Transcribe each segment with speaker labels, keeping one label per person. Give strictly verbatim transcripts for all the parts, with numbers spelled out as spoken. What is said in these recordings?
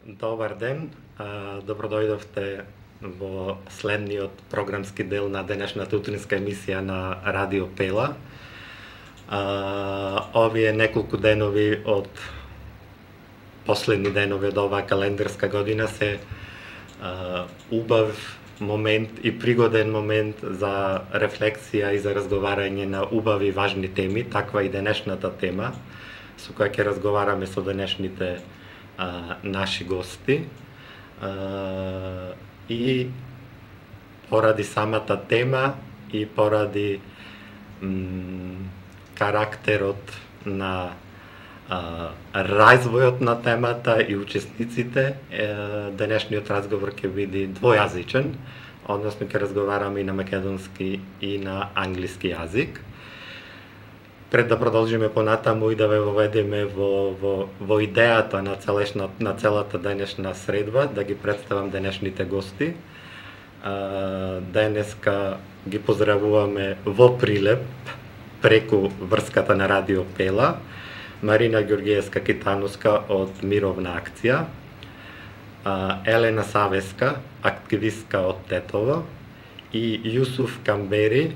Speaker 1: Добар ден, добро дојдовте во следниот програмски дел на денешната утринска емисија на Радио Пела. Овие неколку денови од последни денови од оваа календарска година се убав момент и пригоден момент за рефлексија и за разговарање на убави важни теми, таква и денешната тема со која ќе разговараме со денешните а, наши гости. А, и поради самата тема и поради м, карактерот на а, развојот на темата и учесниците, е, денешниот разговор ќе биде двојазичен, односно ќе разговараме и на македонски и на англиски јазик. Пред да продолжиме понатаму и да ве воведеме во, во, во идејата на, целешна, на целата денешна средба, да ги представам денешните гости. А, денеска ги поздравуваме во Прилеп, преку врската на Радио Пела, Марина Ѓорѓиевска-Китановска од Мировна акција, а, Елена Савеска, активистка од Тетово, и Јусуф Камбери,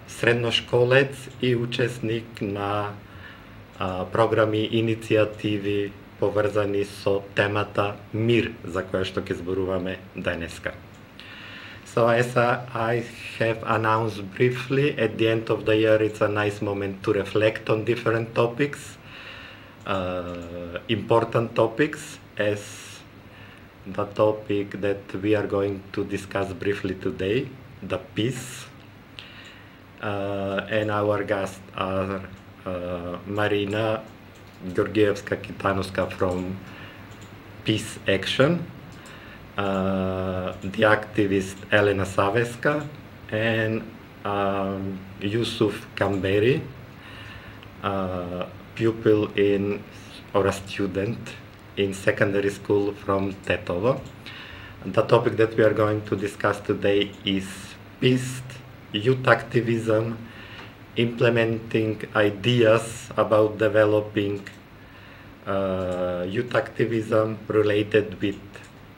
Speaker 1: средношколец и учесник на а, програми и иницијативи поврзани со темата мир, за која што ќе зборуваме денеска. So as I have announced briefly, at the end of the year it's a nice moment to reflect on different topics, uh, important topics, as the topic that we are going to discuss briefly today, the peace. Uh, and our guests are uh, Marina Ѓорѓиевска-Китановска from Peace Action, uh, the activist Elena Saveska, and um, Yusuf Kamberi, uh, pupil in or a student in secondary school from Tetovo. The topic that we are going to discuss today is peace, youth activism, implementing ideas about developing uh, youth activism related with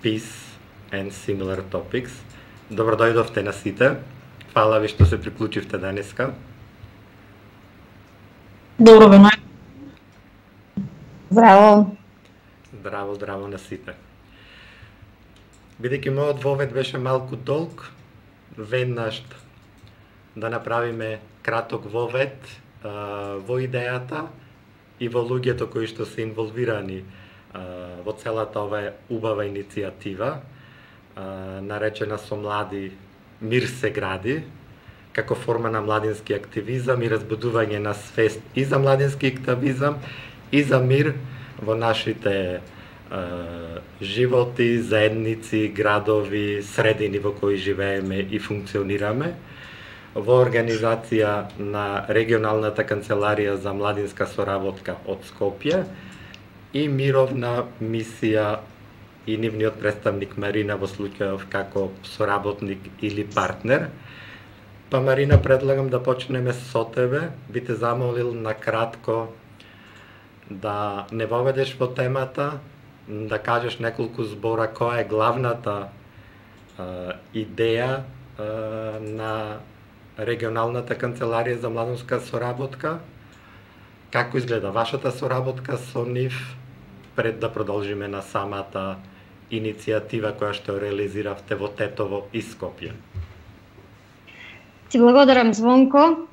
Speaker 1: peace and similar topics. Добро дојдовте на сите. Фала ви што се приклучивте денеска.
Speaker 2: Добро ве најдов. Здраво.
Speaker 1: Здраво, здраво на сите. Бидејќи мојот вовед беше малку долг, веднаш да направиме краток вовед а, во идејата и во луѓето кои што се инволвирани а, во целата ова убава иницијатива, а, наречена со млади Мир се гради, како форма на младински активизам и разбудување на свест и за младински активизам и за мир во нашите а, животи, заедници, градови, средини во кои живееме и функционираме, во организација на регионалната канцеларија за младинска соработка од Скопје и мировна мисија и нивниот представник Марина во случајов како соработник или партнер. Па Марина, предлагам да почнеме со тебе. Би те замолил на кратко да не воведеш во темата, да кажеш неколку збора која е главната а, идеја а, на регионалната канцеларија за младинска соработка, како изгледа вашата соработка со нив, пред да продолжиме на самата иницијатива која што реализиравте во Тетово и Скопје.
Speaker 2: Ти благодарам, Звонко.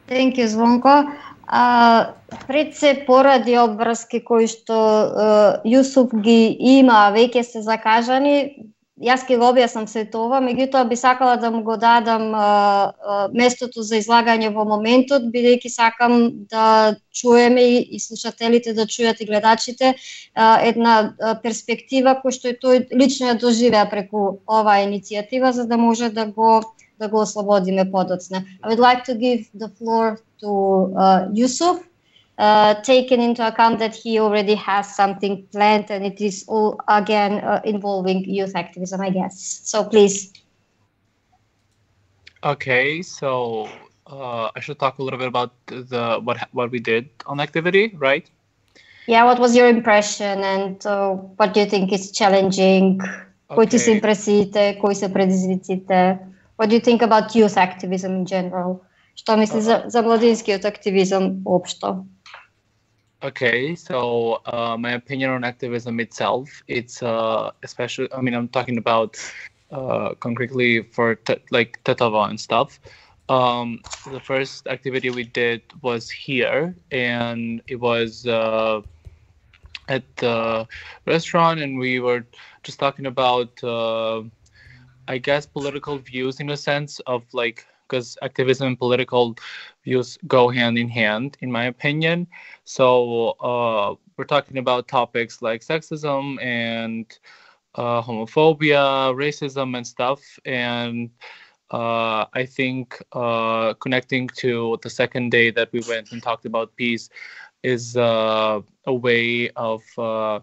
Speaker 2: Thank you, Звонко. А, пред се поради обврски кои што uh, Јусуф ги има, веќе се закажани, јас ќе го објаснам се тоа, меѓутоа би сакала да му го дадам а, а, местото за излагање во моментот, бидејќи сакам да чуеме и, и слушателите да чујат и гледачите а, една а, перспектива која што и тој лично ја доживеа преку оваа иницијатива, за да може да го да го ослободиме подоцна. I would like to give the floor to uh, Yusuf. Uh, taken into account that he already has something planned and it is all again uh, involving youth activism, I guess. So please.
Speaker 3: Okay, so uh, I should talk a little bit about the what what we did on the activity, right?
Speaker 2: Yeah, what was your impression and uh, what do you think is challenging? Кои ти се импресиите, кои се предизвиците? What do you think about youth activism in general? Што мисли за, за младинскиот активизам општо?
Speaker 3: Okay, so uh, my opinion on activism itself, it's uh, especially, I mean, I'm talking about uh, concretely for te- like Tetava and stuff. Um, the first activity we did was here, and it was uh, at the restaurant, and we were just talking about, uh, I guess, political views in a sense of like, because activism and political views go hand in hand, in my opinion. So uh, we're talking about topics like sexism and uh, homophobia, racism, and stuff. And uh, I think uh, connecting to the second day that we went and talked about peace is uh, a way of uh,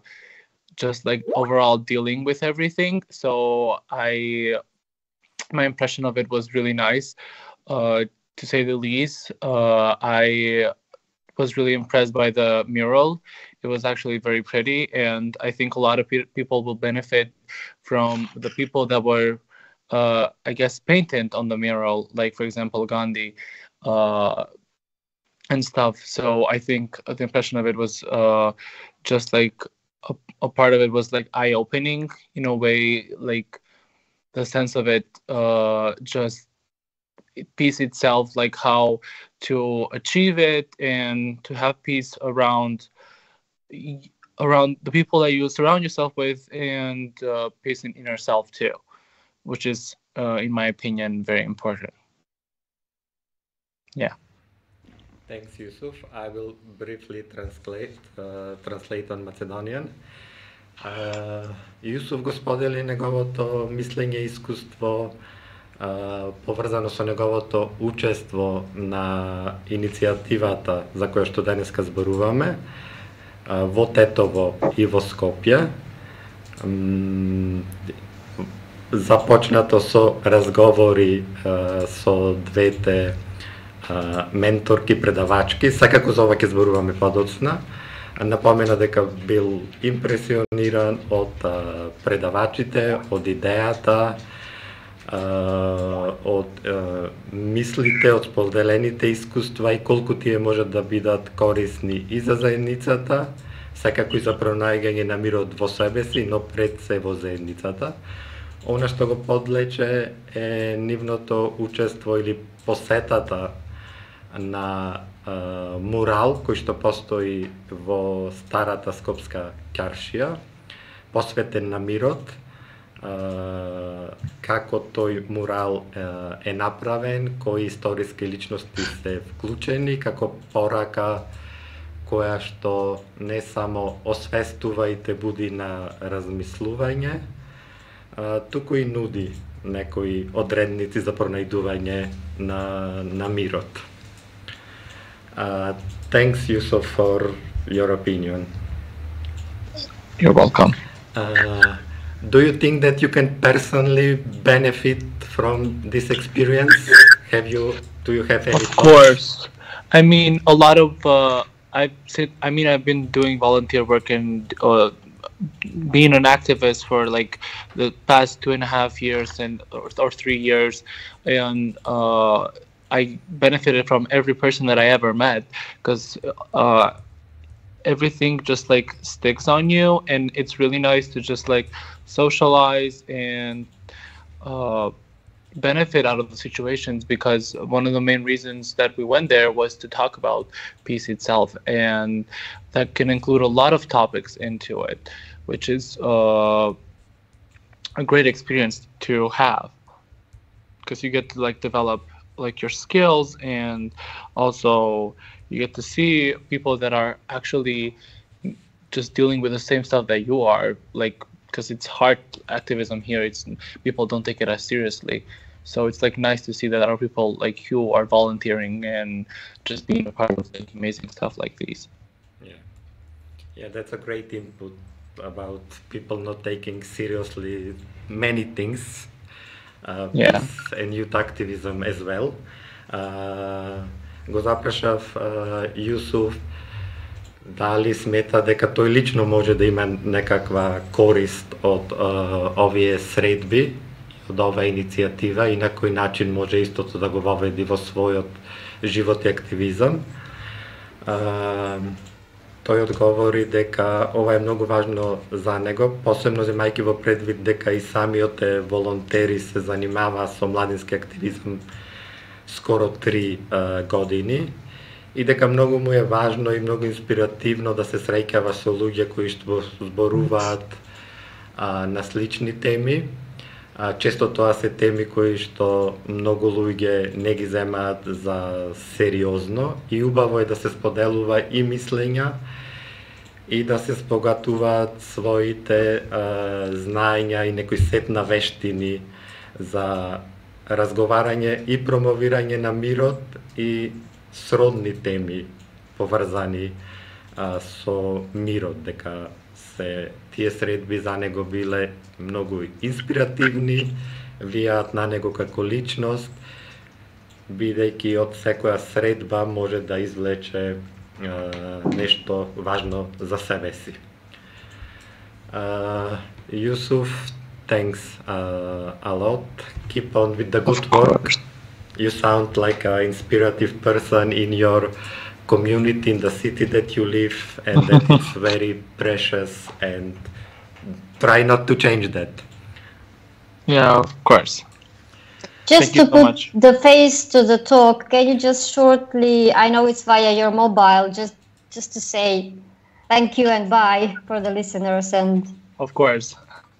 Speaker 3: just like overall dealing with everything. So I, my impression of it was really nice, uh, to say the least. Uh, I was really impressed by the mural. It was actually very pretty, and I think a lot of pe- people will benefit from the people that were, uh, I guess, painted on the mural, like, for example, Gandhi uh, and stuff. So I think the impression of it was uh, just like a, a part of it was like eye-opening in a way, like the sense of it, uh, just peace itself, like how to achieve it and to have peace around around the people that you surround yourself with, and uh, peace in inner self too, which is, uh, in my opinion, very important. Yeah.
Speaker 1: Thanks, Yusuf. I will briefly translate uh, translate on Macedonian. Uh, Yusuf го сподели неговото мислење и искуство uh, поврзано со неговото учество на иницијативата за која што денеска зборуваме uh, во Тетово и во Скопје. Um, започнато со разговори uh, со двете uh, менторки, предавачки, секако за ова ќе зборуваме подоцна. Напомена дека бил импресиониран од а, предавачите, од идејата, а, од а, мислите, од споделените искуства и колку тие можат да бидат корисни и за заедницата, секако и за пронајгање на мирот во себе си, но пред се во заедницата. Она што го подлече е нивното учество или посетата на Uh, мурал кој што постои во старата скопска ќаршија, посветен на мирот, uh, како тој мурал uh, е направен, кои историски личности се вклучени, како порака која што не само освестува и те буди на размислување, uh, туку и нуди некои одредници за пронајдување на, на мирот. Uh, thanks, Yusuf, for your opinion.
Speaker 3: You're welcome.
Speaker 1: Uh, do you think that you can personally benefit from this experience? Have you? Do you have any?
Speaker 3: Of course. I mean, a lot of uh, I've said. I mean, I've been doing volunteer work and uh, being an activist for like the past two and a half years and or, or three years, and. Uh, I benefited from every person that I ever met, because uh, everything just like sticks on you, and it's really nice to just like socialize and uh, benefit out of the situations, because one of the main reasons that we went there was to talk about peace itself, and that can include a lot of topics into it, which is uh, a great experience to have, because you get to like develop like your skills, and also you get to see people that are actually just dealing with the same stuff that you are, like, because it's hard activism here, it's people don't take it as seriously, so it's like nice to see that other people like you are volunteering and just being a part of like amazing stuff like these.
Speaker 1: Yeah, yeah, that's a great input about people not taking seriously many things. Uh,
Speaker 3: yeah.
Speaker 1: And youth activism as well. Uh, го запрашав uh, Јусуф дали смета дека тој лично може да има некаква корист од uh, овие средби, од оваа иницијатива и на кој начин може истото да го воведи во својот живот и активизам. Uh, тој одговори дека ова е многу важно за него, посебно земајќи во предвид дека и самиот волонтери се занимава со младински активизам скоро три uh, години, и дека многу му е важно и многу инспиративно да се среќава со луѓе кои што зборуваат а, на слични теми. А, често тоа се теми кои што многу луѓе не ги земаат за сериозно и убаво е да се споделува и мислења и да се спогатуваат своите а, знаења и некој сет на вештини за разговарање и промовирање на мирот и сродни теми поврзани а, со мирот, дека се тие средби за него биле многу инспиративни, влијаат на него како личност, бидејќи од секоја средба може да извлече а, нешто важно за себе си. Uh, Yusuf, thanks uh, a lot. Keep on with the good work. You sound like an inspirative person in your community, in the city that you live, and that it's very precious, and try not to change that.
Speaker 3: Yeah, of course.
Speaker 2: Just
Speaker 3: Thank you
Speaker 2: to
Speaker 3: so
Speaker 2: put
Speaker 3: much.
Speaker 2: the face to the talk, can you just shortly, I know it's via your mobile, just just to say thank you and bye for the listeners, and
Speaker 3: Of course.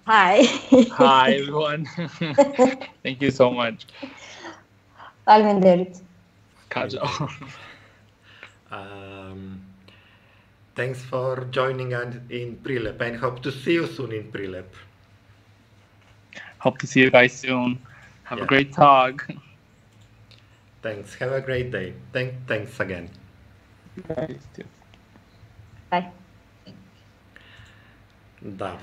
Speaker 2: hi.
Speaker 3: Hi, everyone. Thank you so much.
Speaker 2: Faleminderit.
Speaker 3: Kaja.
Speaker 1: Um, thanks for joining us in Prilep, and hope to see you soon in Prilep.
Speaker 3: Hope to see you guys soon. Have
Speaker 1: Yeah.
Speaker 3: a great talk.
Speaker 1: Thanks. Have a great day. Thank, thanks again.
Speaker 3: Guys, too.
Speaker 2: Bye.
Speaker 1: Да.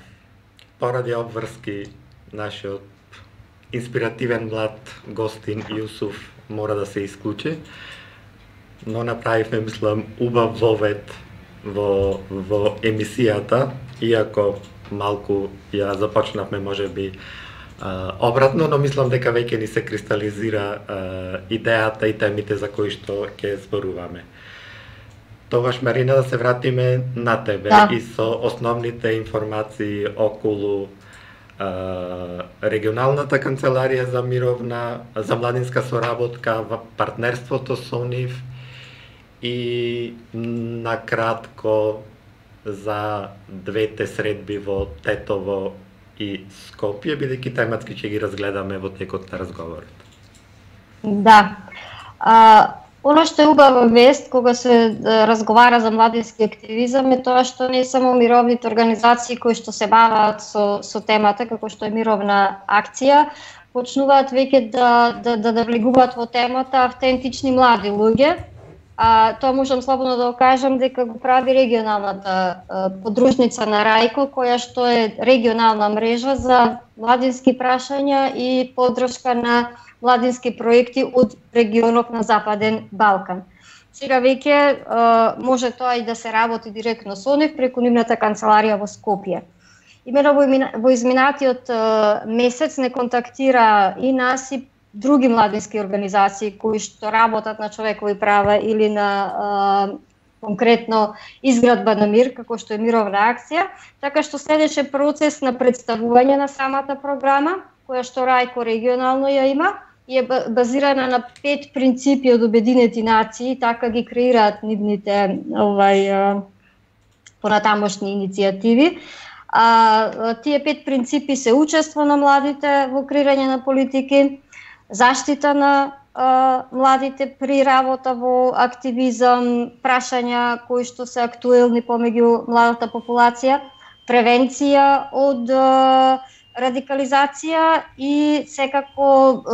Speaker 1: Поради обврски, нашиот инспиративен млад гостин Јусуф мора да се исклучи, но направивме, мислам, убав вовет во, во емисијата, иако малку ја започнавме можеби а, обратно, но мислам дека веќе ни се кристализира а, идејата и темите за кои што ќе зборуваме. Тогаш, Марина, да се вратиме на тебе
Speaker 2: Да.
Speaker 1: и со основните информации околу а, регионалната канцеларија за мировна, за младинска соработка, во партнерството со нив и накратко за двете средби во Тетово и Скопје, бидејќи тематски ќе ги разгледаме во текот на разговорот.
Speaker 2: Да. А, Оно што е убава вест кога се да, разговара за младински активизам е тоа што не само мировните организации кои што се бават со, со темата, како што е мировна акција, почнуваат веќе да, да, да, да влегуваат во темата автентични млади луѓе. А, тоа можам слободно да го кажам дека го прави регионалната а, подружница на Рајко, која што е регионална мрежа за младински прашања и поддршка на младински проекти од регионот на Западен Балкан. Сега веќе може тоа и да се работи директно со нив преку нивната канцеларија во Скопје. Имено во, во изминатиот месец не контактира и нас и други младински организации кои што работат на човекови права или на а, конкретно изградба на мир, како што е мировна акција, така што следеше процес на представување на самата програма, која што Рајко регионално ја има, и е базирана на пет принципи од Обединети нации, така ги креираат нивните овај понатамошни иницијативи. А, тие пет принципи се учество на младите во креирање на политики, заштита на а, младите при работа во активизам, прашања кои што се актуелни помеѓу младата популација, превенција од а, радикализација и секако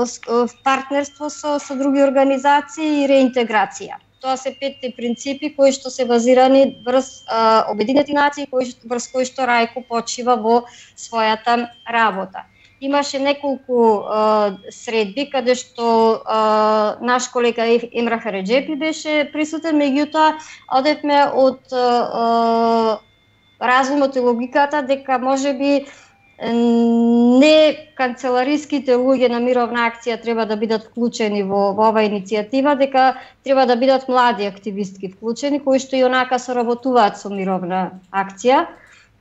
Speaker 2: партнерство со, со други организации и реинтеграција. Тоа се петте принципи кои што се базирани врз а, Обединети нации, кои, врз кои што Рајко почива во својата работа. имаше неколку а, средби каде што а, наш колега Емра Хареджепи беше присутен, меѓутоа одевме од а, разумот и логиката дека можеби не канцелариските луѓе на мировна акција треба да бидат вклучени во, во оваа иницијатива, дека треба да бидат млади активистки вклучени, кои што и онака соработуваат со мировна акција.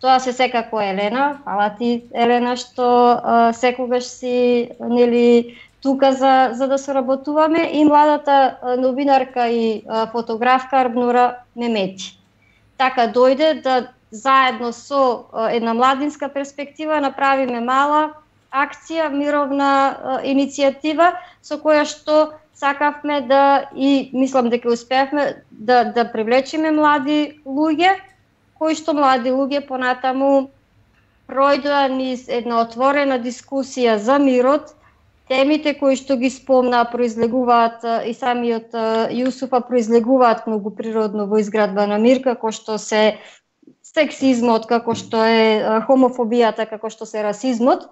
Speaker 2: Тоа се секако Елена, фала ти Елена што а, секогаш си нели тука за за да соработуваме, и младата а, новинарка и а, фотографка Арбнура Мемети. Така дојде да заедно со а, една младинска перспектива направиме мала акција, мировна а, иницијатива со која што сакавме да, и мислам дека успеавме да да привлечеме млади луѓе, кои што млади луѓе понатаму пројдоа низ една отворена дискусија за мирот. Темите кои што ги спомна произлегуваат, и самиот Јусуфа произлегуваат многу природно во изградба на мир, како што се сексизмот, како што е хомофобијата, како што се расизмот.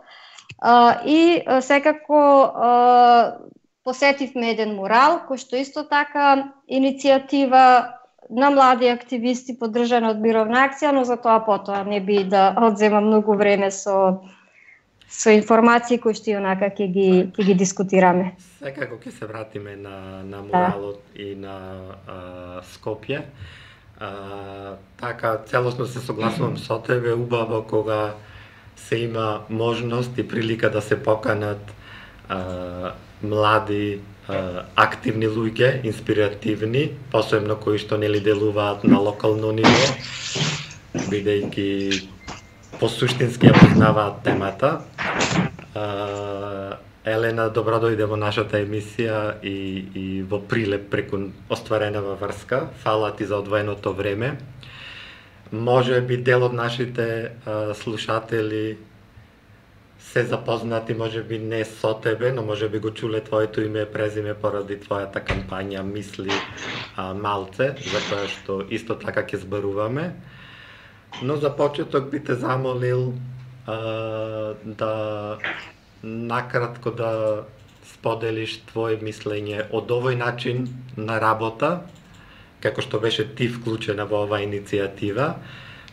Speaker 2: И секако посетивме еден мурал, кој што исто така иницијатива на млади активисти поддржана од мировна акција, но за тоа потоа не би да одзема многу време со со информации кои што и онака ќе ги ќе ги дискутираме.
Speaker 1: Секако ќе се вратиме на на муралот да. И на а, Скопје. А, така целосно се согласувам со тебе, убаво кога се има можност и прилика да се поканат а, млади активни луѓе, инспиративни, посебно кои што нели делуваат на локално ниво, бидејќи посуштински ја познаваат темата. Елена, добро дојде во нашата емисија и, и во прилеп преку остваренава врска. Фала ти за одвоеното време. Може би дел од нашите а, слушатели се запознати, може би не со тебе, но може би го чуле твоето име и презиме поради твојата кампања Мисли а, малце, за која што исто така ќе зборуваме. Но за почеток би те замолил а, да накратко да споделиш твое мислење од овој начин на работа, како што беше ти вклучена во оваа иницијатива,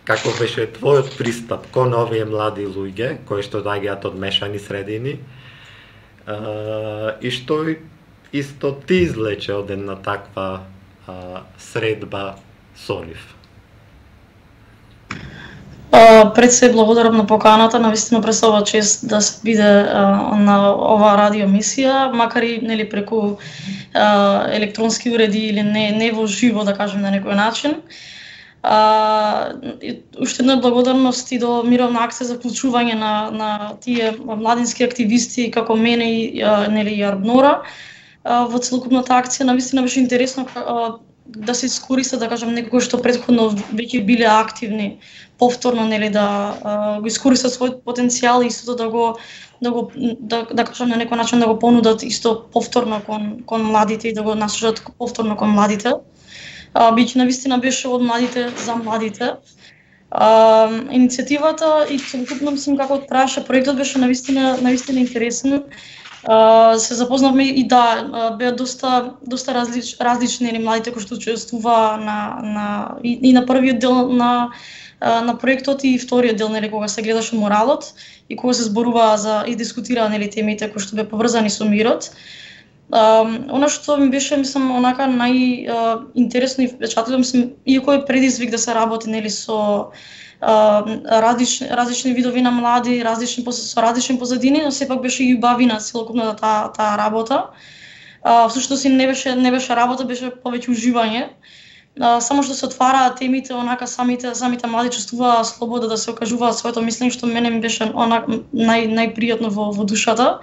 Speaker 1: како беше твојот пристап кон овие млади луѓе кои што доаѓаат од мешани средини, а, и што исто ти излече од една таква а, средба со нив.
Speaker 4: Uh, пред се благодарам на поканата, навистина представува чест да се биде uh, на оваа радиоемисија, макар и нели преку uh, електронски уреди или не не во живо, да кажем на некој начин. Uh, уште една благодарност и до мировна акција за вклучување на на тие младински активисти како мене и uh, нели и Арбнора uh, во целокупната акција. Навистина беше интересно uh, да се искористи, да кажем, некои што претходно веќе биле активни, повторно нели да а, го искористат својот потенцијал и истото да го да го да, да кажем на некој начин да го понудат исто повторно кон кон младите и да го насочат повторно кон младите. А, биќе навистина беше од младите за младите. А, иницијативата и целокупно мислам како траеше проектот беше навистина навистина интересен. Uh, се запознавме и да, uh, беа доста доста различ, различни или младите кои што учествуваа на на и, и на првиот дел на uh, на проектот и вториот дел, нели кога се гледаше моралот и кога се зборуваа за и дискутираа нели темите кои што беа поврзани со мирот. Uh, она што ми беше мислам онака најинтересно и впечатлило, мислам, иако е предизвик да се работи нели со Uh, различни, различни видови на млади, различни со различни позадини, но сепак беше и убавина целокупната таа таа работа. Uh, всушност не беше не беше работа, беше повеќе уживање. Uh, само што се отвараа темите, онака самите самите млади чувствуваа слобода да се окажуваат своето мислење, што мене ми беше онака нај најпријатно во во душата.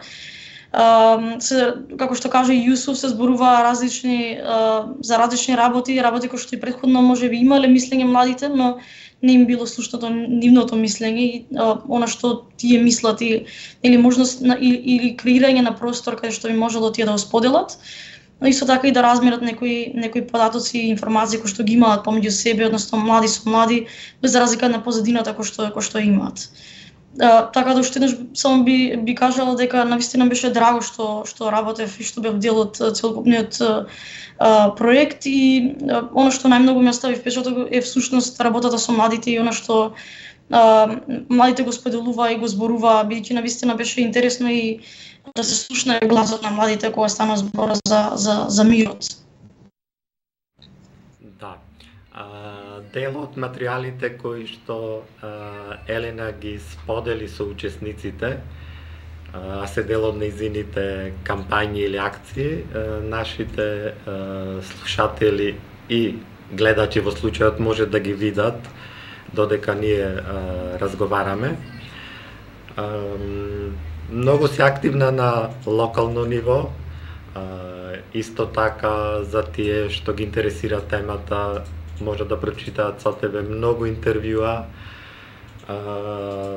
Speaker 4: Uh, се, како што каже Јусуф, се зборуваа различни uh, за различни работи, работи кои што и претходно можеби имале мислење младите, но не им било слушнато нивното мислење и а, она што тие мислат и, или можност на, или, или креирање на простор каде што би можело тие да го споделат. Но исто така и да размерат некои некои податоци и информации кои што ги имаат помеѓу себе, односно млади со млади, без разлика на позадината кој што кој што имаат. А, така да уште еднаш само би би кажала дека навистина беше драго што што работев и што бев дел од целокупниот а, проект и а, она што најмногу ми остави впечаток е всушност работата со младите и она што а, младите го споделува и го зборува, бидејќи навистина беше интересно и да се слушне гласот на младите кога стана збор за за за мирот.
Speaker 1: Да. А, дел од материјалите кои што а, Елена ги сподели со учесниците, а се дел од нејзините кампањи или акции, а, нашите а, слушатели и гледачи во случајот може да ги видат додека ние а, разговараме. А, многу си активна на локално ниво, а, исто така за тие што ги интересира темата може да прочитаат со тебе многу интервјуа, а,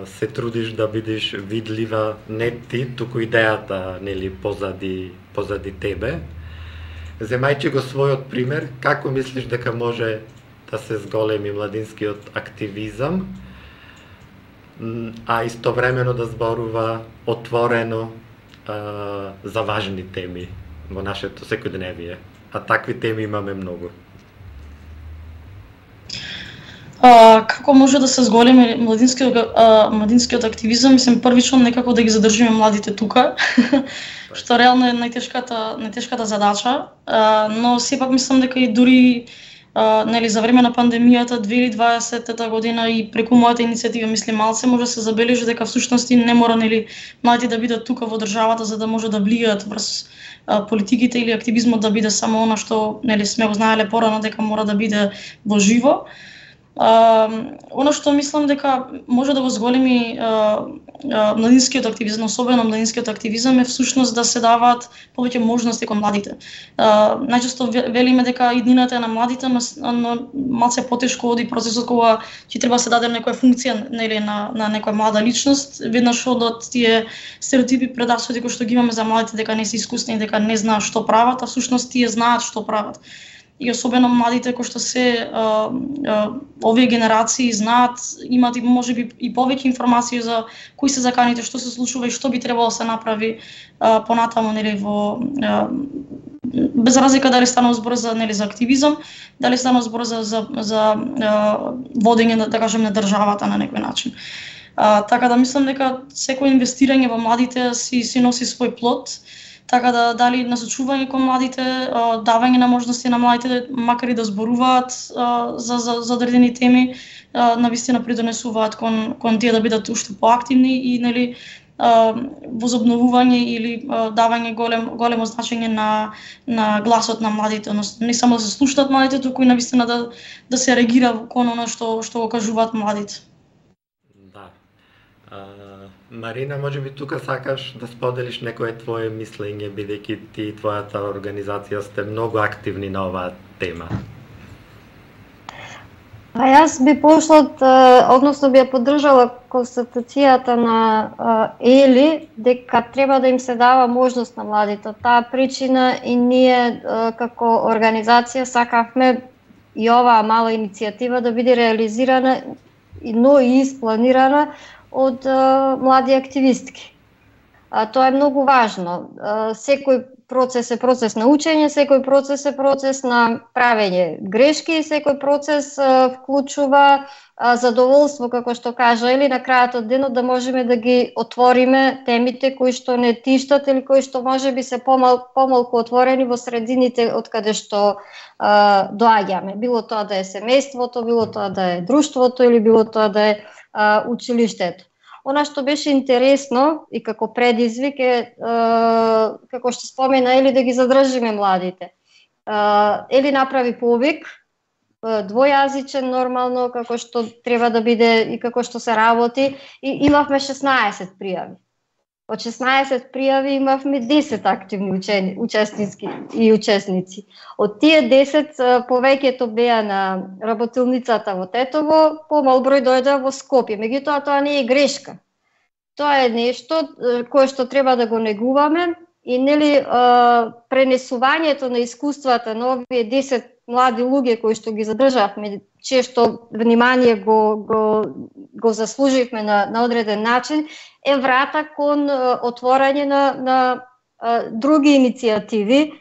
Speaker 1: се трудиш да бидеш видлива не ти, туку идејата, нели, позади позади тебе. Земајќи го својот пример, како мислиш дека може да се зголеми младинскиот активизам, а истовремено да зборува отворено а, за важни теми во нашето секојдневие, а такви теми имаме многу.
Speaker 4: А, како може да се зголеми младинскиот а, младинскиот активизам? Мислам првично некако да ги задржиме младите тука, што реално е најтешката најтешката задача, а, но сепак мислам дека и дури Uh, нели, за време на пандемијата две илјади и дваесета година и преку мојата иницијатива мислим малце може да се забележи дека всушност не мора нели младите да бидат тука во државата за да може да влијаат врз uh, политиките или активизмот да биде само она што нели сме го знаеле порано дека мора да биде во живо. Uh, ono што мислам дека може да го зголеми uh, uh, младинскиот активизам, особено младинскиот активизам е всушност да се даваат повеќе можности кон младите. Uh, најчесто велиме дека иднината на младите, но, но малце потешко оди процесот кога ќе треба се даде некоја функција нели на на некоја млада личност, веднаш одат тие стереотипи предасоди кои што ги имаме за младите дека не се искусни, дека не знаат што прават, а всушност тие знаат што прават. И особено младите кои што се а, а, овие генерации знаат, имат и можеби и повеќе информации за кои се заканите, што се случува и што би требало да се направи а, понатаму нели во а, без разлика дали станува збор за нели за активизам, дали станува збор за за за а, водење да кажем на државата на некој начин. А, така да мислам дека секој инвестирање во младите си си носи свој плод. Така да дали насочување кон младите, давање на можности на младите макар и да зборуваат за за за одредени теми, навистина придонесуваат кон кон тие да бидат уште поактивни и нели возобновување или давање голем големо значење на на гласот на младите, односно не само да се слушаат младите, туку и навистина да да се реагира кон она што што го кажуваат младите.
Speaker 1: Да. Марина, може би тука сакаш да споделиш некое твое мислење, бидејќи ти и твојата организација сте многу активни на оваа тема.
Speaker 2: А јас би пошла, односно би ја поддржала констатацијата на Ели, дека треба да им се дава можност на младите. Таа причина и ние како организација сакавме и оваа мала иницијатива да биде реализирана, но и испланирана од а, млади активистки. А, тоа е многу важно. А, секој процес е процес на учење, секој процес е процес на правење грешки и секој процес а, вклучува а, задоволство, како што кажа, или на крајот од денот да можеме да ги отвориме темите кои што не тиштат или кои што можеби се помал, помалку отворени во средините од каде што а, доаѓаме. Било тоа да е семејството, било тоа да е друштвото или било тоа да е а, училиштето. Она што беше интересно и како предизвик е, а, како што спомена Ели, да ги задржиме младите. А, Ели направи повик, двојазичен нормално, како што треба да биде и како што се работи, и имавме шеснаесет пријави. Од шеснаесет пријави имавме десет активни учени, учесници и учесници. Од тие десет повеќето беа на работилницата во Тетово, помал број дојде во Скопје. Меѓутоа тоа не е грешка. Тоа е нешто кое што треба да го негуваме и нели пренесувањето на искуствата на овие десет млади луѓе кои што ги задржавме, често внимание го, го, го заслуживме на, на одреден начин, е врата кон отворање на, на а, други иницијативи,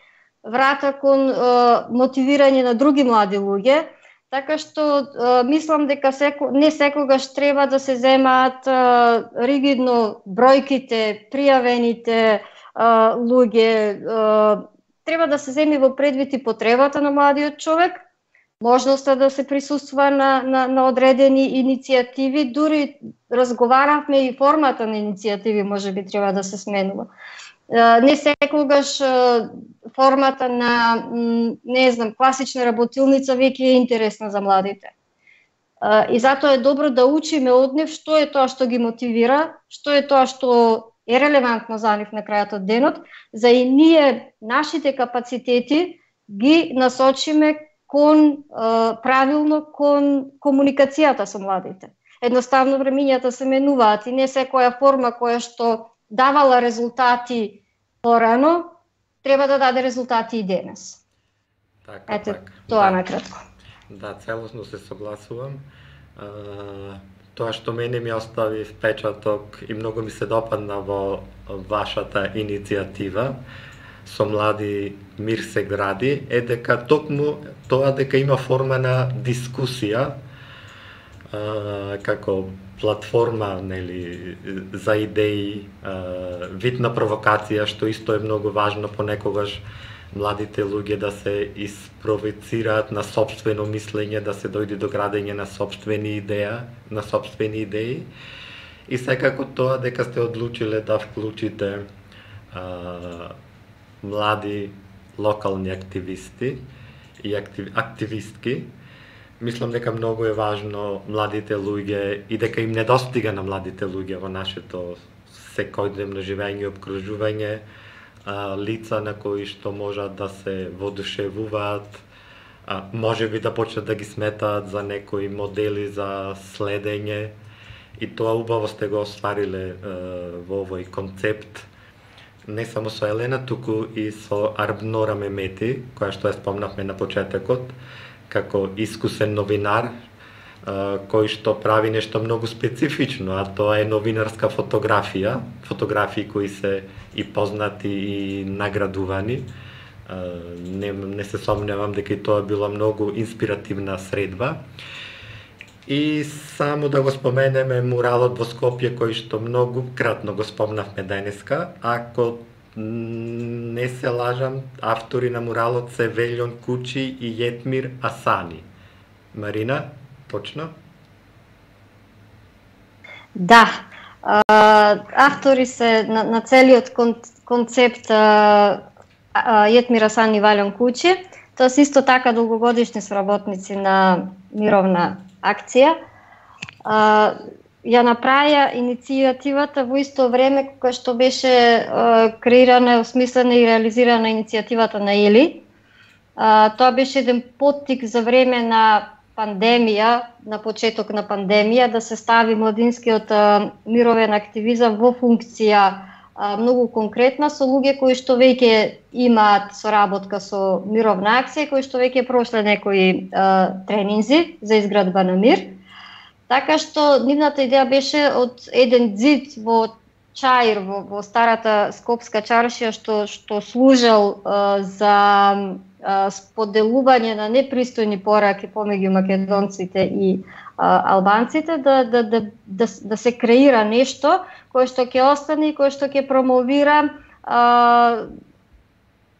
Speaker 2: врата кон а, мотивирање на други млади луѓе, така што а, мислам дека секо, не секогаш треба да се земаат а, ригидно бројките, пријавените а, луѓе, а, треба да се земи во предвид и потребата на младиот човек, можноста да се присуства на, на, на одредени иницијативи, дури разговаравме и формата на иницијативи може би треба да се сменува. Не секогаш формата на, не знам, класична работилница веќе е интересна за младите. И затоа е добро да учиме од нив што е тоа што ги мотивира, што е тоа што е релевантно за нив на крајот од денот, за и ние нашите капацитети ги насочиме кон правилно кон комуникацијата со младите. Едноставно времињата се менуваат и не секоја форма која што давала резултати порано треба да даде резултати и денес.
Speaker 1: Така,
Speaker 2: Ете,
Speaker 1: така.
Speaker 2: тоа
Speaker 1: Да.
Speaker 2: накратко.
Speaker 1: Да, целосно се согласувам. А, тоа што мене ми остави впечаток и многу ми се допадна во вашата иницијатива со млади мир се гради, е дека токму тоа дека има форма на дискусија, а, како платформа, нели, за идеи, а, вид на провокација, што исто е многу важно понекогаш младите луѓе да се испровоцираат на сопствено мислење, да се дојде до градење на сопствени идеја, на сопствени идеи. И секако тоа дека сте одлучиле да вклучите а, млади локални активисти и актив, активистки, мислам дека многу е важно младите луѓе и дека им недостига на младите луѓе во нашето секојдневно живење и обкружување, а, лица на кои што можат да се воодушевуваат, а, може би да почнат да ги сметаат за некои модели за следење, и тоа убаво сте го оствариле а, во овој концепт, не само со Елена, туку и со Арбнора Мемети, која што ја спомнавме на почетокот, како искусен новинар, кој што прави нешто многу специфично, а тоа е новинарска фотографија, фотографии кои се и познати и наградувани. Не, не се сомневам дека и тоа била многу инспиративна средба. И само да го споменеме муралот во Скопје, кој што многу кратно го спомнавме денеска. Ако не се лажам, автори на муралот се Велјон Кучи и Јетмир Асани. Марина, точно?
Speaker 2: Да, а, автори се на, на целиот кон, концепт а, а, Јетмир Асани и Велјон Кучи. Тоа се исто така долгогодишни соработници на мировна акција. А, ја направија иницијативата во исто време кога што беше а, креирана, осмислена и реализирана иницијативата на Ели. А, тоа беше еден поттик за време на пандемија, на почеток на пандемија, да се стави младинскиот а, мировен активизам во функција а, многу конкретна со луѓе кои што веќе имаат соработка со мировна акција, кои што веќе прошле некои а, тренинзи за изградба на мир. Така што нивната идеја беше од еден ѕид во Чаир, во, во старата скопска чаршија, што што служел а, за а, споделување на непристојни пораки помеѓу македонците и а, албанците, да, да, да, да, да се креира нешто кое што ќе остане и кое што ќе промовира а,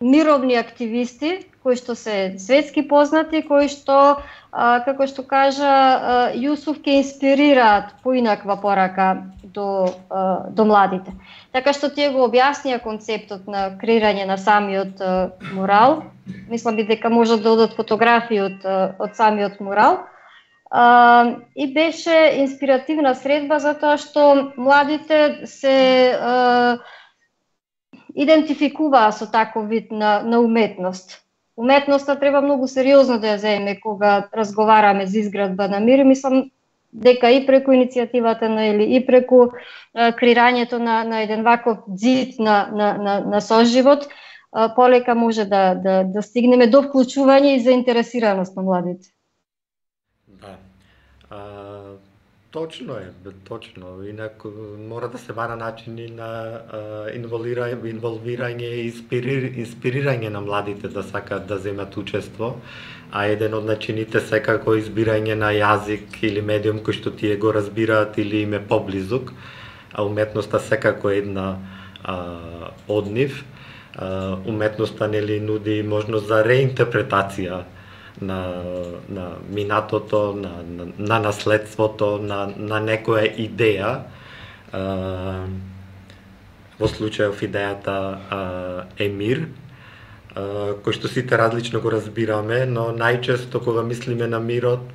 Speaker 2: мировни активисти, кои што се светски познати, кои што, а, како што кажа а, Јусуф, ќе инспирираат поинаква порака до, а, до младите. Така што тие го објаснија концептот на креирање на самиот а, мурал. Мислам би дека можат да одат фотографии од, од самиот мурал. А, и беше инспиративна средба затоа што младите се а, идентификуваа со таков вид на, на уметност. Уметноста треба многу сериозно да ја земеме кога разговараме за изградба на мир. Мислам дека и преку иницијативата на Ели, и преку а, креирањето на, на еден ваков ѕид на, на, на, на соживот, полека може да, да, да стигнеме до вклучување и заинтересираност на младите.
Speaker 1: Да. А, точно е, точно. Инаку мора да се бара начини на а, инволвирање, инволвирање и инспирир, инспирирање на младите да сакаат да земат учество, а еден од начините секако избирање на јазик или медиум кој што тие го разбираат или им е поблизук, а уметноста секако е една а, од нив. Uh, уметноста нели нуди можност за реинтерпретација на, на минатото, на, на, на наследството, на, на некоја идеја. Uh, во случајов идејата uh, е мир, uh, кој што сите различно го разбираме, но најчесто кога мислиме на мирот,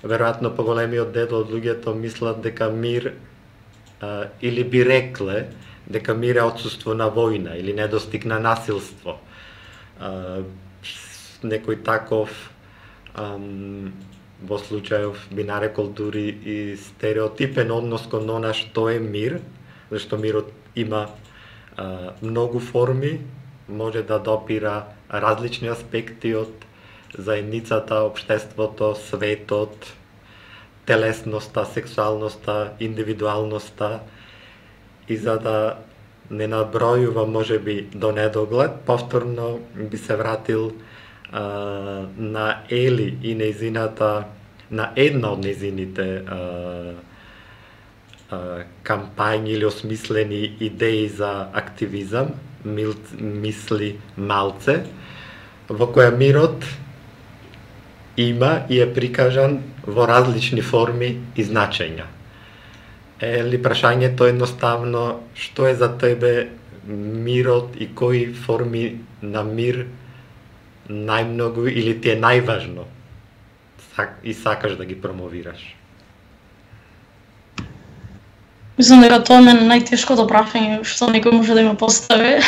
Speaker 1: веројатно поголемиот дел од луѓето мислат дека мир uh, или би рекле дека мир е отсуство на војна или недостиг на насилство. А, некој таков ам, во случајов би нарекол дури и стереотипен однос кон она што е мир, зашто мирот има а, многу форми, може да допира различни аспекти од заедницата, општеството, светот, телесноста, сексуалноста, индивидуалноста. И за да не набројува можеби до недоглед, повторно би се вратил а, на Ели и нејзината, на една од нејзините а, а, кампањи или осмислени идеи за активизам, мил, мисли малце, во која мирот има и е прикажан во различни форми и значења. Или прашањето едноставно, што е за тебе мирот и кои форми на мир најмногу или ти е најважно и сакаш да ги промовираш?
Speaker 4: Мислам дека тоа е најтешкото прашање што некој може да ме постави.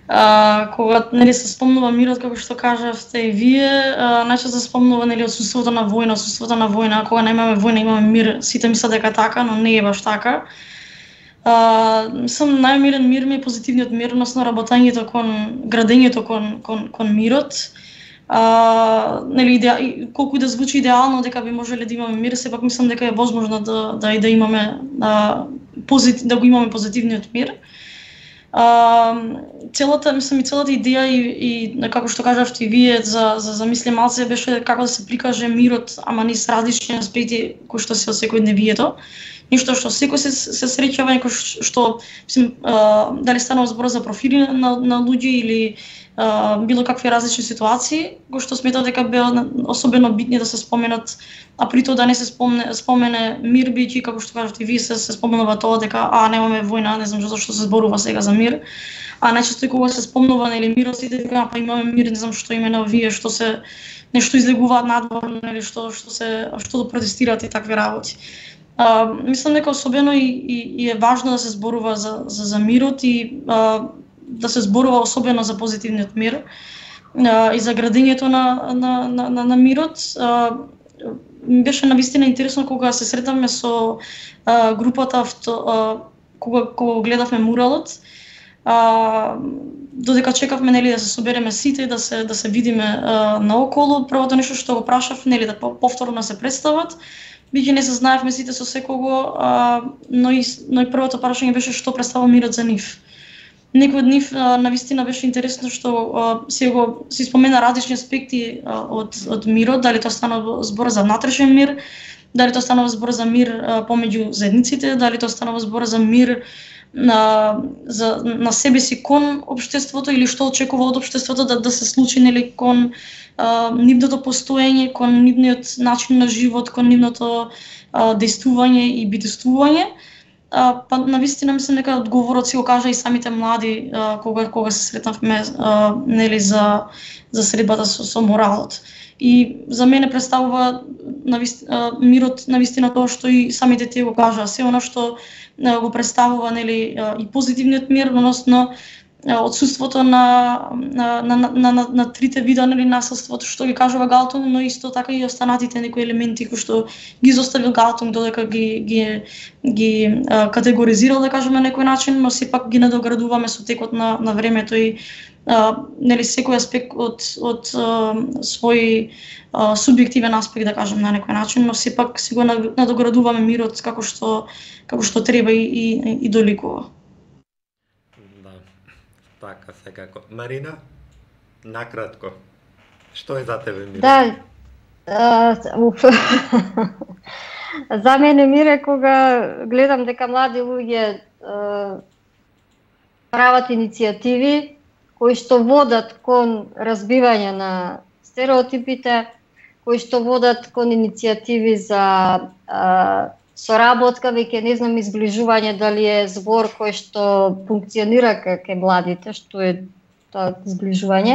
Speaker 4: Uh, кога нели се спомнува мирот, како што кажавте и вие, uh, најчесто се спомнува нели отсуството на војна, отсуството на војна, кога немаме војна имаме мир, сите мислат дека така, но не е баш така. Uh, мислам најмирен мир ми е позитивниот мир, односно работењето кон градењето кон кон кон мирот. Uh, нели идеа, колку и да звучи идеално дека би можеле да имаме мир, сепак мислам дека е возможно да да и да имаме uh, позитив, да го имаме позитивниот мир. Uh, целата, мислам и целата идеја и, и како што кажавте и вие за за за мисли малце беше како да се прикаже мирот, ама низ различни аспекти кои што се од секојдневието. Ништо што секој се се среќава, некој што мислам uh, дали станува збор за профили на на луѓе или uh, било какви различни ситуации, кои што сметам дека беа особено битни да се споменат, а при тоа да не се спомне спомене мир, бијќи како што кажавте вие се се спомнува тоа дека а немаме војна, не знам зашто се зборува сега за мир. А најчесто и кога се спомнува нели мирот, сите дека па имаме мир, не знам што имена вие што се нешто излегуваат надвор, нели што што се што да протестираат и такви работи. А, мислам дека особено и, и, и е важно да се зборува за за, за мирот и а, да се зборува особено за позитивниот мир а, и за градењето на на на на, на мирот. А, беше навистина интересно кога се сретавме со а, групата авто, а, кога кога гледавме муралот. А, додека чекавме нели да се собереме сите, да се да се видиме а, наоколу, првото нешто што го прашав нели да повторно се представат. Биќе не се знаевме сите со секого, а, но и но и првото прашање беше што представува мирот за нив. Некој од нив а, навистина беше интересно што а, се го се спомена различни аспекти а, од од мирот, дали тоа станува збор за внатрешен мир, дали тоа станува збор за мир а, помеѓу заедниците, дали тоа станува збор за мир на за на себе си кон општеството или што очекува од општеството да да се случи нели кон а, нивното постоење, кон нивниот начин на живот, кон нивното а, действување и битествување. А, па навистина мислам дека одговорот си го кажа и самите млади а, кога кога се сретнавме а, нели за за средбата со, со моралот. И за мене представува навистина мирот навистина тоа што и самите тие го кажаа, се она што го представува нели и позитивниот мир, односно отсуството на на на на, на, на трите вида нели насилството што ги кажува Галтунг, но исто така и останатите некои елементи кои што ги изоставил Галтунг додека ги ги ги а, категоризирал, да кажеме на некој начин, но сепак ги надоградуваме со текот на на времето и а, нели секој аспект од од а, свој а, субјективен аспект, да кажем на некој начин, но сепак си го надоградуваме мирот како што како што треба и и, и доликува.
Speaker 1: Така, секако. Марина, накратко, што е за тебе мир?
Speaker 2: Да, а, за мене мир е кога гледам дека млади луѓе а, прават иницијативи кои што водат кон разбивање на стереотипите, кои што водат кон иницијативи за а, соработка, веќе не знам изближување дали е збор кој што функционира кај младите, што е тоа изближување.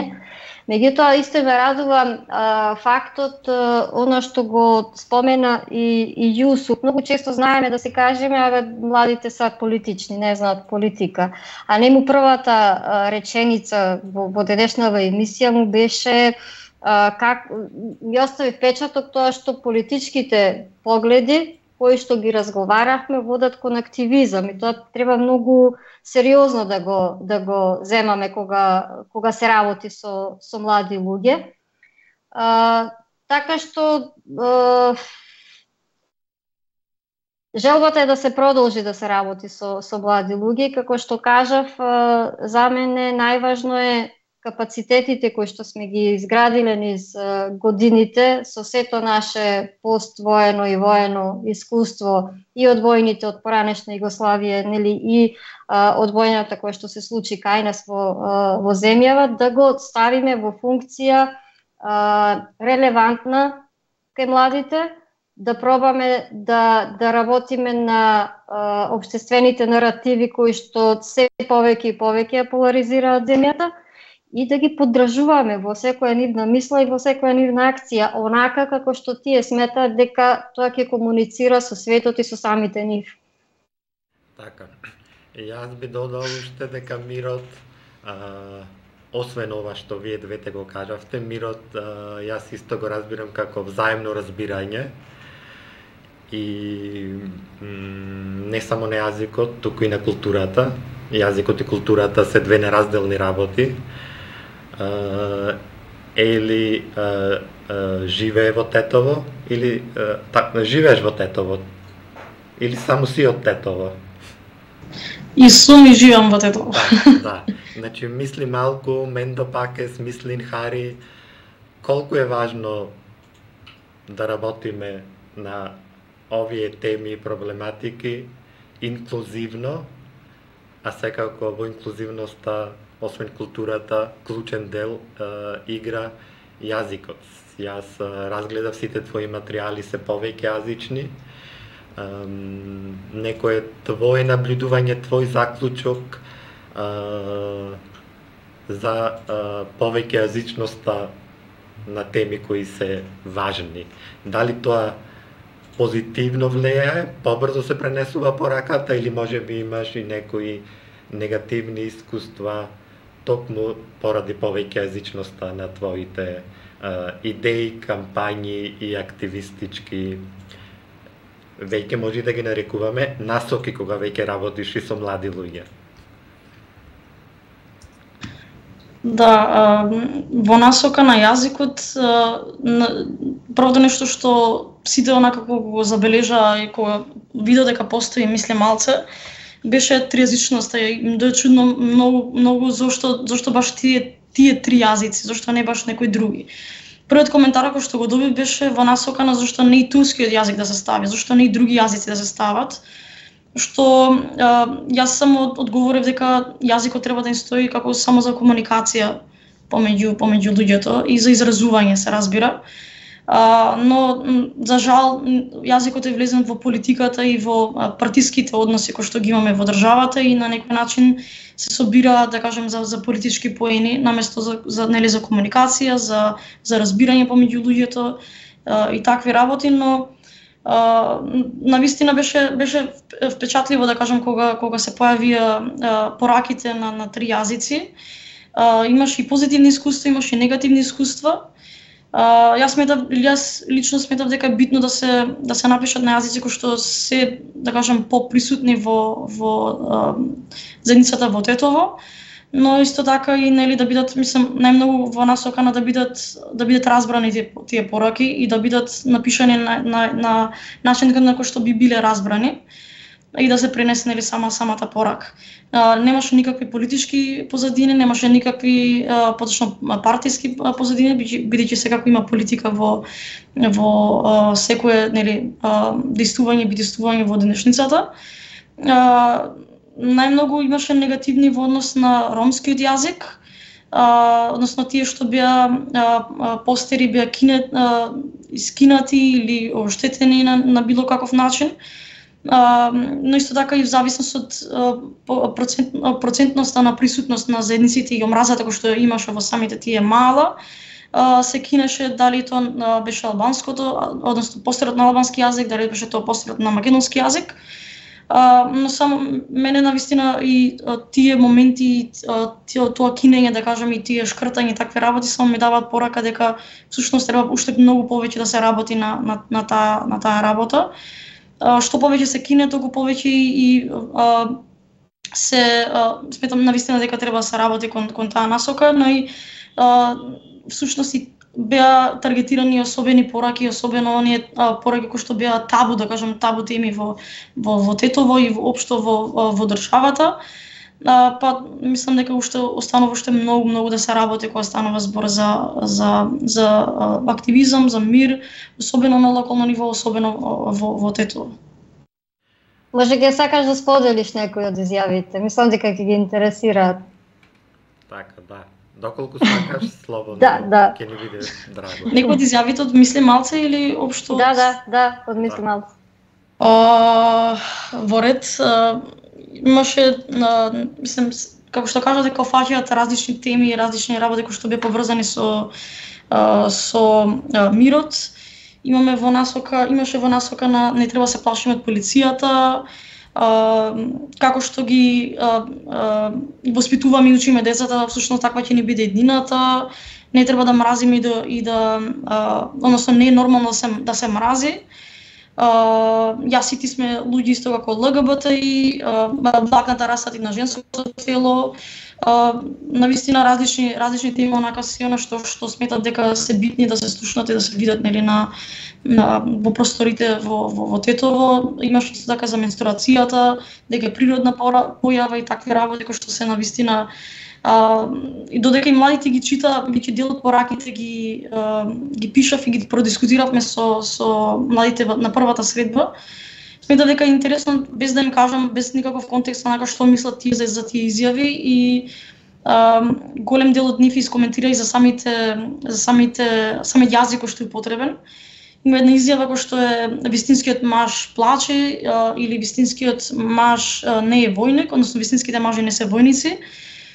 Speaker 2: Меѓутоа исто ме радува а, фактот, а, она што го спомена и, и Јусуф. Многу често знаеме да се кажеме, абе младите се политични, не знаат политика. А нему првата а, реченица во, во денешнава емисија му беше а, как ми остави впечаток тоа што политичките погледи кои што ги разговаравме водат кон активизам и тоа треба многу сериозно да го да го земаме кога кога се работи со со млади луѓе. А, така што а, желбата е да се продолжи да се работи со со млади луѓе, како што кажав, а, за мене најважно е капацитетите кои што сме ги изградиле низ годините со сето наше поствоено и воено искуство и од војните од поранешна Југославија, нели и а, од војната која што се случи кај нас во, а, во земјава, да го ставиме во функција а, релевантна кај младите, да пробаме да да работиме на а, општествените наративи кои што се повеќе и повеќе поларизираат земјата, и да ги поддржуваме во секоја нивна мисла и во секоја нивна акција, онака како што тие сметаат дека тоа ќе комуницира со светот и со самите нив.
Speaker 1: Така. И јас би додал уште дека мирот, а, освен ова што вие двете го кажавте, мирот а, јас исто го разбирам како взаимно разбирање и м, не само на јазикот, туку и на културата. Јазикот и културата се две неразделни работи. Uh, или uh, uh, живее во Тетово, или uh, так, живееш во Тетово, или само си од Тетово.
Speaker 4: И сум и живам во Тетово.
Speaker 1: Да, да. Значи, мисли малку, Мендо Пакес, мислин Хари, колку е важно да работиме на овие теми и проблематики инклузивно, а секако во инклузивноста освен културата, клучен дел е, игра јазикот. Јас е, разгледав сите твои материјали се повеќе јазични. Е, некој твое наблюдување, твој заклучок е, за е, повеќе јазичноста на теми кои се важни. Дали тоа позитивно влијае, побрзо се пренесува пораката или можеби имаш и некои негативни искуства токму поради повеќе јазичноста на твоите а, идеи, кампањи и активистички, веќе може да ги нарекуваме насоки кога веќе работиш и со млади луѓе.
Speaker 4: Да, во насока на јазикот, првото нешто што сите онака кога го забележа и кога вида дека постои мисле малце, беше тријазичноста и ми дое чудно многу многу зошто зошто баш тие тие три јазици, зошто не баш некои други. Првиот коментар кој што го добив беше во насока на зошто не и турскиот јазик да се стави, зошто не и други јазици да се стават. Што а, јас само одговорив дека јазикот треба да им стои како само за комуникација помеѓу помеѓу луѓето и за изразување се разбира. Uh, но за жал јазикот е влезен во политиката и во uh, партиските односи кои што ги имаме во државата и на некој начин се собира, да кажем, за, за политички поени наместо за, за нели за комуникација, за за разбирање помеѓу луѓето uh, и такви работи, но А, навистина беше беше впечатливо да кажам кога кога се појавија пораките на на три јазици. А, имаше и позитивни искуства, имаше и негативни искуства. А, јас сметав, јас лично сметав дека е битно да се да се напишат на јазици кои што се, да кажам, поприсутни во во а, заедницата во Тетово, но исто така и нели да бидат, мислам, најмногу во насока на да бидат да бидат разбрани тие, тие пораки и да бидат напишани на на на начин на кој што би биле разбрани и да се пренесе нели сама самата порака. А, немаше никакви политички позадини, немаше никакви а, поточно партиски позадини, бидејќи секако има политика во во а, секое нели а, действување, бидествување во денешницата. А, најмногу имаше негативни во однос на ромскиот јазик, а, односно тие што беа постери беа кине, а, искинати или оштетени на, на било каков начин. Uh, но исто така и в зависност од uh, процент, процентноста на присутност на заедниците и омразата кој што имаше во самите тие мала, uh, се кинеше дали тоа uh, беше албанското, односно постерот на албански јазик, дали беше тоа постерот на македонски јазик. Uh, но само мене навистина и uh, тие моменти, uh, тие, тоа кинење, да кажам, и тие шкртање, такви работи само ми даваат порака дека всушност треба уште многу повеќе да се работи на на на таа на таа работа. Што повеќе се кине, толку повеќе и а, се а, сметам навистина дека треба да се работи кон, кон таа насока, но и а, всушност и беа таргетирани особени пораки, особено оние а, пораки кои што беа табу, да кажам, табу теми во во, во Тетово и воопшто во во државата. А, па мислам дека уште останува уште многу многу да се работи кога станува збор за за за а, активизам, за мир, особено на локално ниво, особено во во Тетово.
Speaker 2: Може ќе сакаш да споделиш некои од изјавите? Мислам дека ќе ги интересираат.
Speaker 1: Така, да. Доколку сакаш, слободно.
Speaker 2: Да, да.
Speaker 1: Ќе ни биде драго.
Speaker 4: Некои од изјавите од Мисли Малце или општо?
Speaker 2: Да, да, да, од Мисли Малце.
Speaker 4: А, во ред а, имаше, а, мислам, како што кажа, дека фаќаат различни теми и различни работи кои што беа поврзани со а, со а, мирот. Имаме во насока, имаше во насока на не треба се плашиме од полицијата, а, како што ги а, а, воспитуваме и учиме децата, всушност таква ќе ни биде еднината, не треба да мразиме и да, и да а, односно не е нормално да се, да се мрази. Uh, јас и ти сме луѓе исто како Л Г Б Т И, блакната раса и на женското тело, uh, навистина различни различни теми онака се она што што сметат дека се битни да се слушнат и да се видат нели на, на во просторите во во, во Тетово. Имаш исто така за менструацијата, дека е природна појава и такви работи кои што се навистина. Uh, и додека и младите ги чита, веќе дел од пораките ги uh, ги пишав и ги продискутиравме со со младите на првата средба. Сметам дека е интересно, без да им кажам, без никаков контекст онака што мислат тие за, за тие изјави, и uh, голем дел од нив искоментира и за самите за самите самиот јазик кој што е потребен. Има една изјава која што е вистинскиот маж плаче, uh, или вистинскиот маж uh, не е војник, односно вистинските мажи не се војници,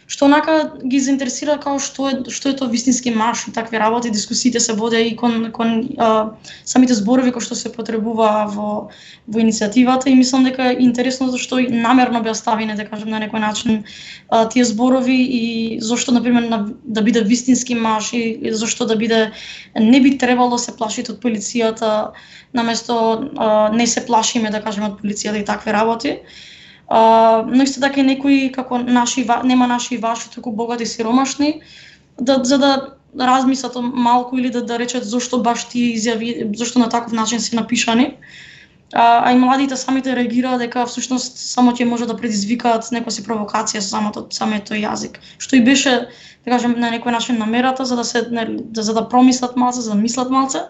Speaker 4: што онака ги заинтересира као што е што е тоа вистински маж и такви работи. Дискусиите се водеа и кон кон а, самите зборови кои што се потребува во во иницијативата, и мислам дека е интересно зашто и намерно беа ставени, да кажем, на некој начин а, тие зборови, и зашто на пример на, да биде вистински маж, и, и зашто да биде не би требало да се плашите од полицијата, наместо а, не се плашиме, да кажем, од полицијата и такви работи. Uh, но исто така и некои како наши, нема наши и ваши, туку богати и сиромашни, да, за да размислат малку или да, да речат зошто баш тие изјави, зошто на таков начин се напишани. Uh, а и младите самите реагираат дека всушност само ќе може да предизвикаат некоја си провокација со самото самиот тој јазик, што и беше, да кажем, на некој начин намерата, за да се да, за да промислат малце, за да мислат малце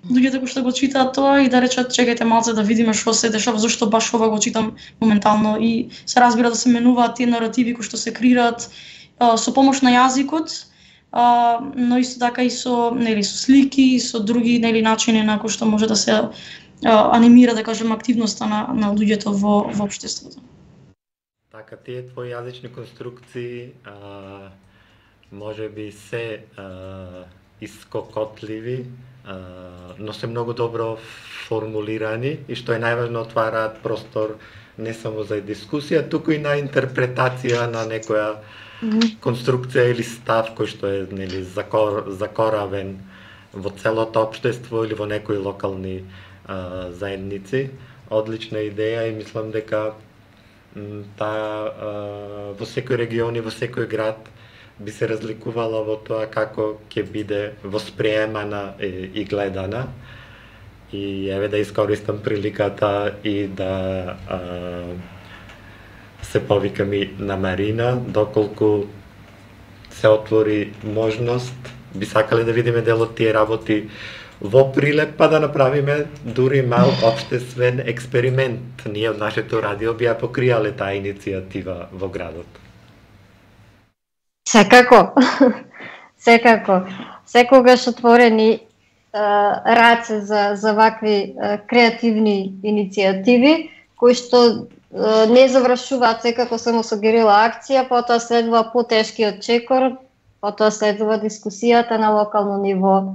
Speaker 4: луѓето кои што го читаат тоа, и да речат чекајте малце да видиме што се дешава, зошто баш ова го читам моментално, и се разбира да се менуваат тие наративи кои што се креираат а, со помош на јазикот, а, но исто така и со нели со слики и со други нели начини на кои што може да се а, анимира, да кажем, активноста на на луѓето во во општеството.
Speaker 1: Така, тие твои јазични конструкции а, може би се а, искокотливи, но се многу добро формулирани и што е најважно отвараат простор не само за дискусија, туку и на интерпретација на некоја конструкција или став кој што е нели закор, закоравен во целото општество или во некои локални а, заедници. Одлична идеја и мислам дека таа во секој регион и во секој град би се разликувала во тоа како ќе биде восприемана и, и гледана. И еве да искористам приликата и да а, се повикам и на Марина, доколку се отвори можност, би сакале да видиме дел од тие работи во Прилеп, па да направиме дури мал општествен експеримент. Ние од нашето радио би ја покриале таа иницијатива во градот.
Speaker 2: Секако, секако. Секогаш отворени раце за, за вакви креативни иницијативи, кои што не завршуваат секако само со герила акција, потоа следува потешкиот чекор, потоа следува дискусијата на локално ниво,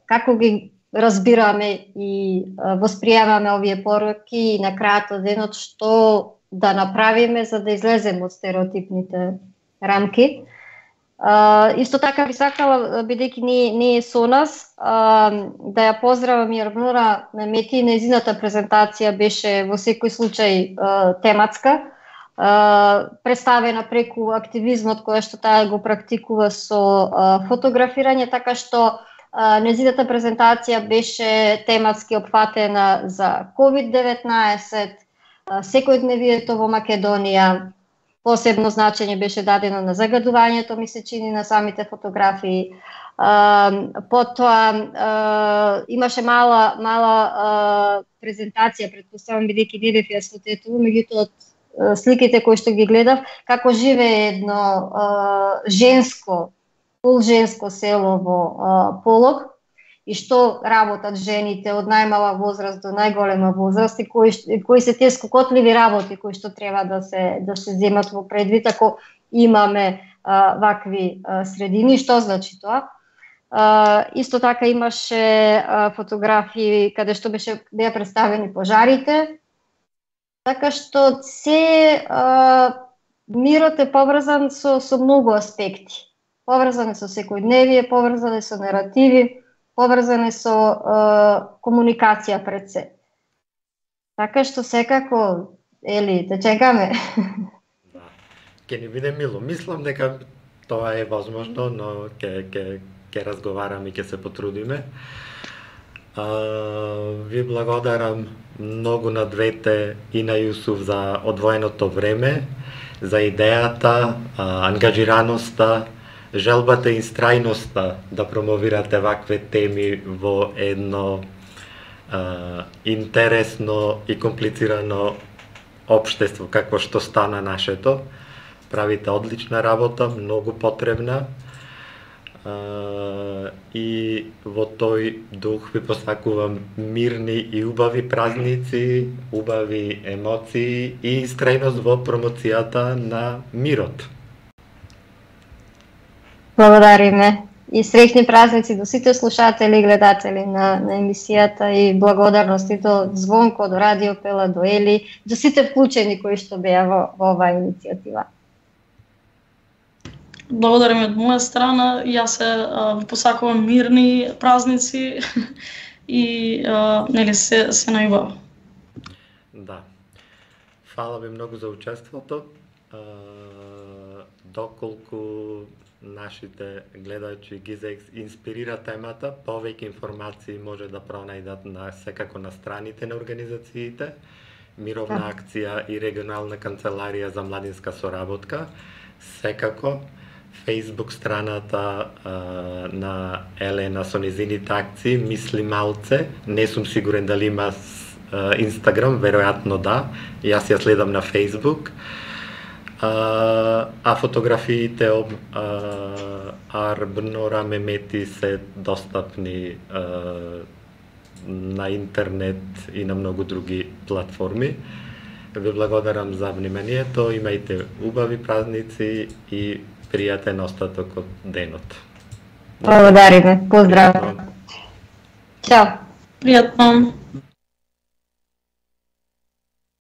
Speaker 2: како ги разбираме и восприемаме овие пороки и на крајот од денот што да направиме за да излеземе од стереотипните рамки. Uh, исто така би сакала, бидејќи не, не е со нас, uh, да ја поздравам и Арбнора Мемети. Нејзината презентација беше во секој случај uh, тематска, uh, представена преку активизмот кој што таа го практикува со uh, фотографирање, така што uh, нејзината презентација беше тематски опфатена за ковид деветнаесет, uh, секојдневието во Македонија. Посебно значење беше дадено на загадувањето, ми се чини, на самите фотографии. Uh, потоа uh, имаше мала мала uh, презентација, предпоставам, бидејќи не бев јас во Тетово, меѓутоа од uh, сликите кои што ги гледав, како живее едно uh, женско, полженско село во uh, Полог, и што работат жените од најмала возраст до најголема возраст и кои, кои се тие скокотливи работи кои што треба да се да се земат во предвид ако имаме а, вакви а, средини. Што значи тоа? А, исто така имаше а, фотографии каде што беше беа представени пожарите. Така што се а, мирот е поврзан со со многу аспекти. Поврзан е со секојдневие, поврзан е со наративи, поврзане со е, комуникација пред се. Така што секако, ели, да чекаме.
Speaker 1: Да. Ке ни биде мило. Мислам дека тоа е возможно, но ке, ке, ке разговараме и ке се потрудиме. А, ви благодарам многу на двете и на Јусуф за одвоеното време, за идејата, а, ангажираноста, желбата и истрајноста да промовирате вакве теми во едно а, интересно и комплицирано општество какво што стана нашето. Правите одлична работа, многу потребна. А, и во тој дух ви посакувам мирни и убави празници, убави емоции и истрајност во промоцијата на мирот.
Speaker 2: Благодариме и среќни празници до сите слушатели и гледатели на, на емисијата и благодарности до Звонко, до Радио Пела, до Ели, до сите вклучени кои што беа во, во оваа иницијатива.
Speaker 4: Благодарам од моја страна, јас се ви посакувам мирни празници и а, нели се се најубаво.
Speaker 1: Да. Фала ви многу за учеството. А, доколку нашите гледачи ги инспирира темата, повеќе информации може да пронајдат на секако на страните на организациите, Мировна акција и регионална канцеларија за младинска соработка, секако Facebook страната а, на Елена со незините акции Мисли малце, не сум сигурен дали има а, Инстаграм, веројатно да, јас ја следам на Facebook. А, а фотографиите од Арбнора Мемети се достапни а, на интернет и на многу други платформи. Ви благодарам за вниманието, имајте убави празници и пријатен остаток од денот.
Speaker 2: Благодариме, поздрав. Чао.
Speaker 4: Пријатно.